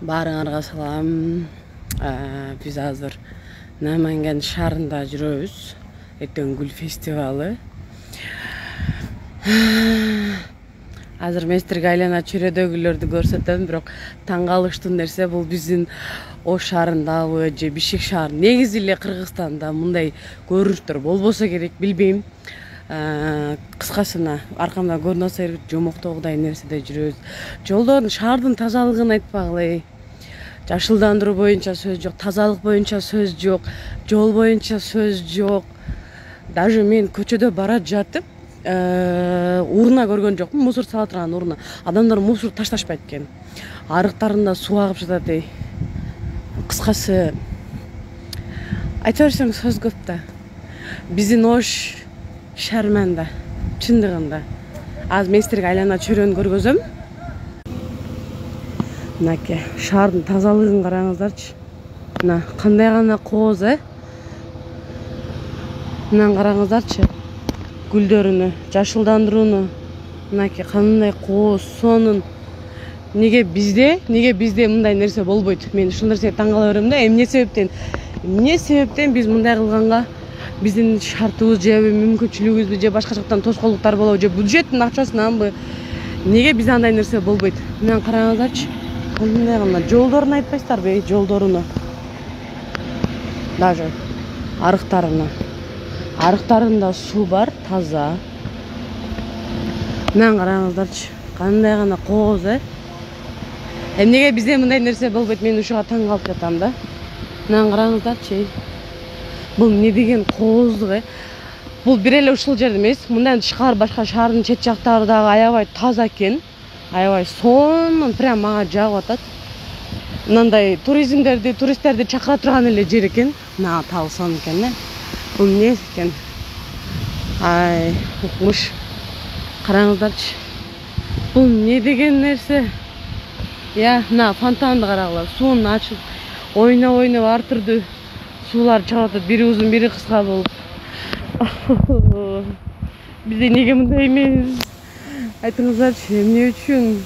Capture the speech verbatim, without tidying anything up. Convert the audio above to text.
Баарыңарга салам. Биз азыр Наманган шаарында жүрөбүз. Эртең гүл фестивалы. Азыр мен силерге айлана чөйрөдөгүлөрдү көрсөтөм, бирок таң калыштуу нерсе бул биздин Ош шаарындабы же Бишкек шаар. Негизи эле Кыргызстанда мындай көрүнүштөр болбосо керек, билбейм. Кыскасына аркамда көрүнүп атса жомоктогудай нерседе жүрөбүз. Жолдордун, шаардын тазалыгын айтпагыла. Жашылдандыруу боюнча сөз жок, тазалык боюнча сөз жок, жол боюнча сөз жок. Даже мен көчөдө бара жатып урна көргөн жокмун, мусор сала турган урна. Адамдар мусор ташташпайт экен. Арыктарында суу агып жатат эй. Кыскасы айта берсең сөз көп да. Биздин Ош шаарманда, чындыгында. Азыр мен силерге айлана чөйрөнү көргөзөм. Мынакей, шаардын тазалыгын караңыздарчы. Мына кандай гана кооз, э? Мына караңыздарчы. Гүлдөрүнү, жашылдандырууну. Мынакей кандай кооз, сонун. Неге бизде, неге бизде мындай нерсе болбойт? Мен ушул нерсеге таң кала берем да. Эмне себептен? Эмне себептен биз мындай кылганга биздин шартыбыз же мүмкүнчүлүгүбүзбү же башка жактан тоскоолдуктар болобу же бюджеттин акчасынанбы? Неге бизде андай нерсе болбойт? Мына караңыздарчы. Кандай гана жолдорун айтпайсыздарбы, жолдоруну. Даже арыктарына. Арыктарында суу бар, таза. Мына караңыздарчы. Кандай гана кооз, э? Эмнеге бизде мындай нерсе болбойт? Мен ушуга таң калып жатам да. Мына караңыздарчы. Бул эмне деген кооздук, э? Бул бир эле ушул жерде эмес, мындан тышкары башка шаардын чет жактары дагы аябай таза экен. Аябай сонун, прям мага жагып атат. Мындай туризмдерди, туристтерди чакыра турган эле жер экен. Мына табы сонун экен, э? Бул эмне экен? Ай, укмуш. Караңыздарчы. Бул эмне деген нерсе? Я, мына фонтанды карагыла, суун ачып, ойноп ойноп ар түрдүү суулар чыгып атат, бири узун, бири кыска болуп. Бизде неге мындай эмес? Айтыңыздарчы, эмне үчүн?